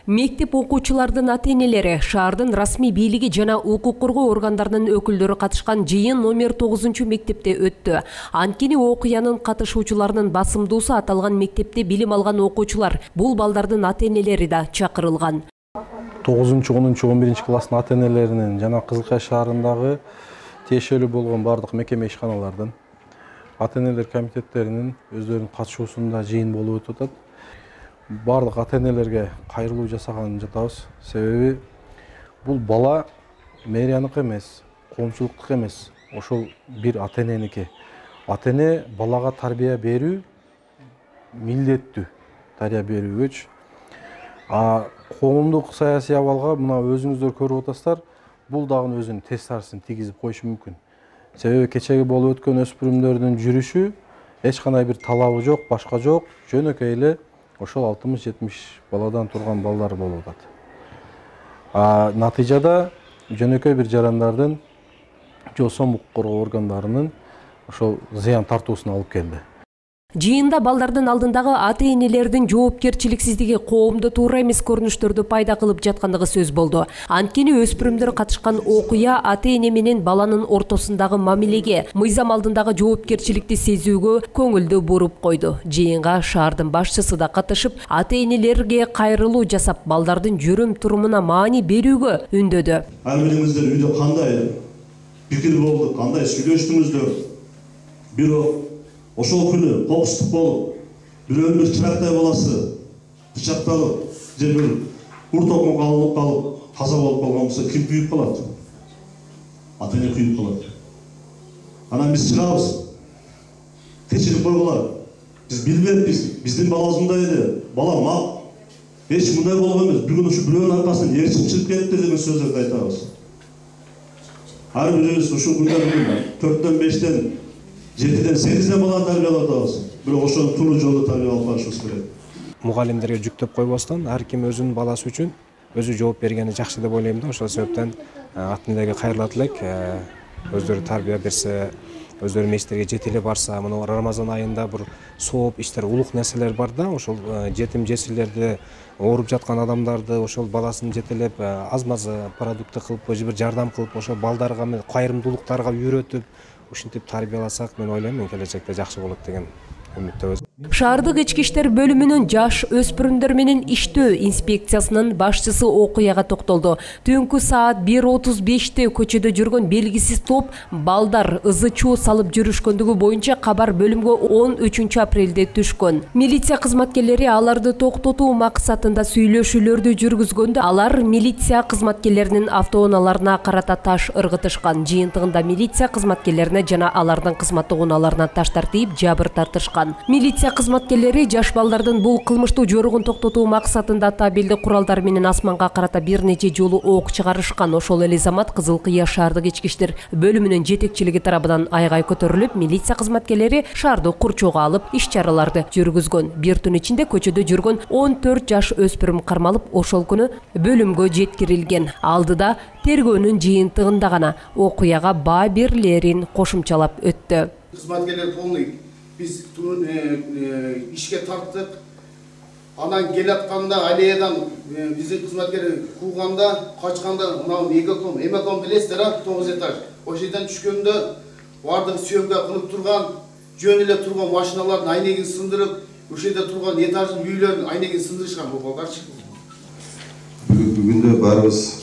Мектеп окуучулардын ата-энелери, шаардын расмий бийлиги жана укук коргоо органдарынын өкүлдөрү катышкан жыйын номер 9 мектепте өттү. Анткени окуянын катышуучуларынын басымдуусу аталган мектепте билим алган окуучулар. Бул балдардын ата-энелери да чакырылган. 9-10-11 класстын ата-энелеринин жана Кызылкая шаарындагы тиешелүү болгон бардык мекеме ишканалардын ата-энелер комитеттеринин өздөрүнүн катышуусунда жыйын болуп өтүп атат. Бардык ата-энелерге кайрылуу жасаган жатабыз. Себеби бул бала мэрияныкы эмес, коомчулуктук эмес, ошол бир ата-эненики. Ата-эне балага тарбия берүү милдеттүү, тарбия берүүгөчү. Коомдук саясий абалга мына өзүңүздөр көрүп атасыздар, бул дагы өзүнүн тез тарсын тийгизип коюшу мүмкүн. Себеби кечеги болуп өткөн өспүрүмдөрдүн жүрүшү эч кандай бир талабы жок, башка жок, жөнөкөй эле ошол 60-70 баладан турган балдар болуп атат. Натыйжада жөнөкөй бир жарандардын же сом укук коргоо органдарынын ошол зыян тартуусуна алып келди. Жыйында балдардын алдындагы ата-энелердин жоопкерчиликсиздиги коомдо туура эмес көрүнүштөрдү пайда кылып жаткандыгы сөз болду. Анткени өспүрүмдөр катышкан окуя ата-эне менен баланын ортосундагы мамилеге, мыйзам алдындагы жоопкерчиликти сезүүгө көңүлдү буруп койду. Жыйынга шаардын башчысы да катышып, ата-энелерге кайрылуу жасап, балдардын жүрүм-турумуна маани берүүгө үндөдү. Ар бириңиздер үйдө кандай пикир болду, кандай сүйлөштүңүздөр? Бирок ошол күнү кокустук болуп, бирөөнүн бир чырактай баласы бычакталып, же бир урт окууга алынып калып, каза болуп калган болсо ким күйүп калат? Ата-эне күйүп калат. Анан биз чыгабыз, кечирип койгула. Биз билбеппиз, биздин балабыз мындай эле, балам эч мындай болгон эмес, бүгүн ушу бирөөнүн аркасынан ээрчип чыгып кетти деген сөздөрдү айтабыз. Ар бирибиз ушул күндө 4-төн 5-тен 7-ден 8-ден баланы тарбиялап атабыз. Бирок ошону туура жолдо тарбия алып барышыбыз керек. Мугалимдерге жүктөп койбостон, ар ким өзүнүн баласы үчүн өзү жооп бергени жакшы деп ойлойм да. Ошол себептен ата-энелерге кайрылат элек, өздөрү тарбия берсе, өздөрү мечиттерге жете эле барса, мына Рамазан айында бир сооп иштер, улук нерселер бар да, ошол жетим жесирлерди, ооруп жаткан адамдарды, ошол баласын жетелеп, аз-маз продукты кылып, же бир жардам кылып, ошол балдарга кайрымдуулуктарга үйрөтүп, ушинтип тарбияласак, мен ойлойм, келечекте жакшы болот деген үмүттөбүз. Шаардык ички иштер бөлүмүнүн жаш өспүрүмдөр менен иштөө инспекциясынын башчысы окуяга токтолду. Түнкү саат 1:35 көчөдө жүргөн белгисиз топ балдар ызы-чуу салып жүрүшкөндүгү боюнча кабар бөлүмгө 13 апрелде түшкөн. Милиция кызматкерлери аларды токтотуу максатында сүйлөшүүлөрдү жүргүзгөндө, алар милиция кызматкерлеринин автоунааларына карата таш ыргытышкан. Жыйынтыгында милиция кызматкерлерине жана алардын кызматтык унааларына таштар тийип, жабыр тартышкан. Милиция кызматкерлери жаш балдардын бул кылмыштуу жоругун токтотуу максатында табелди куралдар менен асманга карата бир нече жолу ок чыгарышкан. Ошол эле замат Кызылкыя шаардык ички иштер бөлүмүнүн жетекчилиги тарабынан айгай көтөрүлүп, милиция кызматкерлери шаарды курчоого алып, иш-чараларды жүргүзгөн. Бир түн ичинде көчөдө жүргөн 14 жаш өспүрүм кармалып, ошол күнү бөлүмгө жеткирилген. Алдыда тергөөнүн жыйынтыгында гана окуяга баа берлерин кошумчалап өттү. Кызматкерлер полный биз ишке тарттык. Анан келатканда аллеядан биздин кызматкерлер кууганда, качканда, мына эмеком билесиздер, 9 этаж. Ошол жерден түшкөндө бардыгы съемка кылып турган, жөн эле турган машиналардын айнегин сындырып, ошол жерде турган этаждын үйлөрүнүн айнегин сындырышкан бул балдарчы. Бүгүндө баарыбыз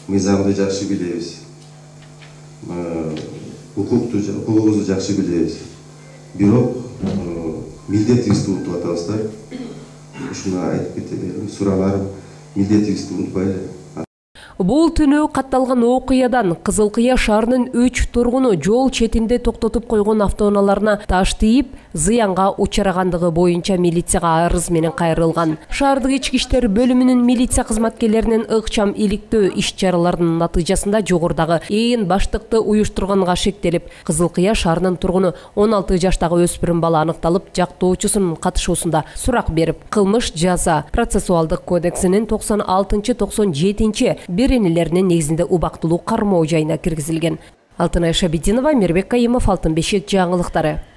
мыйзамды жакшы билебиз. Укугубузду жакшы билебиз. Бирок милдетибизди унутуп атабыздар. Ушуну айтып кетем, сурааларым, милдетибизди унутпайлы. Бул түнү катталган окуядан Кызылкыя шаарынын 3 тургуну жол четинде токтотуп койгон автоунааларына таш тийип, зыянга учурагандыгы боюнча милицияга арыз менен кайрылган. Шаардык ички иштер бөлүмүнүн милиция кызматкерлеринин ыкчам иликтөө иш-чараларынын натыйжасында жогорудагы ээн баштыкты уюштурганга шектелип, Кызылкыя шаарынын тургуну 16 жаштагы өспүрүм бала аныкталып, жактоочусунун катышуусунда сурак берип, кылмыш жаза процессуалдык кодексинин 96-97 беренелеринин негизинде убактылуу кармоо жайына киргизилген. Алтынай Шабидинова, Мирбек Кайымов, Алтын бешик жаңылыктары.